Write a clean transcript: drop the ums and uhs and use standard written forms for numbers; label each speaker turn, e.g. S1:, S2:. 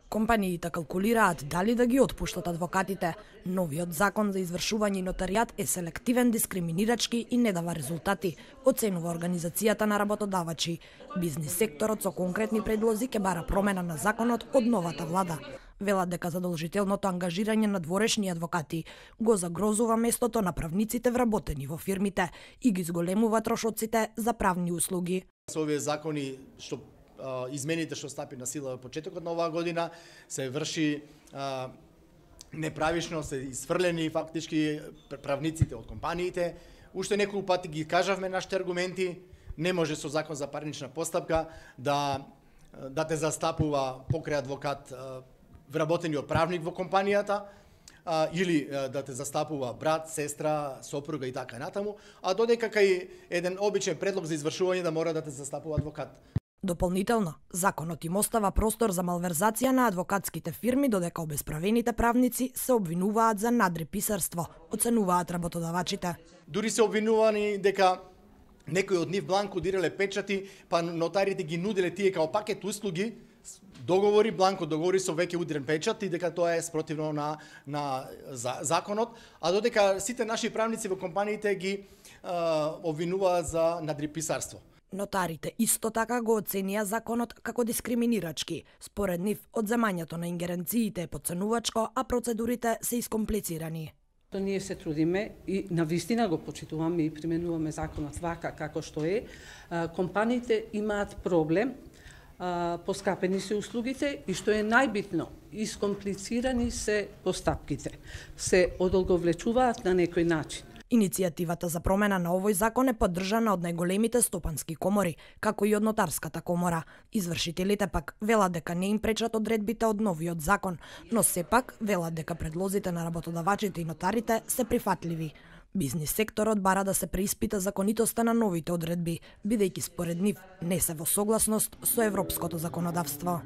S1: Компаниите калкулираат дали да ги отпуштат адвокатите. Новиот закон за извршување и нотаријат е селективен, дискриминирачки и не дава резултати, оценува Организацијата на работодавачи. Бизнис секторот со конкретни предлози ќе бара промена на законот од новата влада. Велат дека задолжителното ангажирање на дворешни адвокати го загрозува местото на правниците вработени во фирмите и ги зголемува трошоците за правни услуги.
S2: Со овие закони што измените што стапи на сила во почетокот на оваа година се врши неправишно, се изфрлени фактички правниците од компаниите. Уште неколку пати ги кажавме нашите аргументи. Не може со закон за парнична постапка да те застапува покрај адвокат вработениот правник во компанијата, или да те застапува брат, сестра, сопруга и така натаму, а додека кај еден обичен предлог за извршување да мора да те застапува адвокат.
S1: Дополнително, законот им остава простор за малверзација на адвокатските фирми, додека обесправените правници се обвинуваат за надреписарство, оценуваат работодавачите.
S2: Дури се обвинувани дека некои од нив бланко дирале печати, па нотарите ги нуделе тие као пакет услуги, договори, бланко договори со веќе удрен печат и дека тоа е спротивно на законот, а додека сите наши правници во компаниите ги обвинуваат за надреписарство.
S1: Нотарите исто така го оценија законот како дискриминирачки. Според нив, одземањето на ингеренциите е потценувачко, а процедурите се искомплицирани.
S3: Ние се трудиме и навистина го почитуваме и применуваме законот вака како што е. Компаниите имаат проблем, поскапени се услугите и што е најбитно, искомплицирани се постапките. Се одолговлечуваат на некој начин.
S1: Иницијативата за промена на овој закон е поддржана од најголемите стопански комори, како и од нотарската комора. Извршителите пак велат дека не им пречат одредбите од новиот закон, но сепак велат дека предлозите на работодавачите и нотарите се прифатливи. Бизнис секторот бара да се преиспита законитоста на новите одредби, бидејќи според нив не се во согласност со европското законодавство.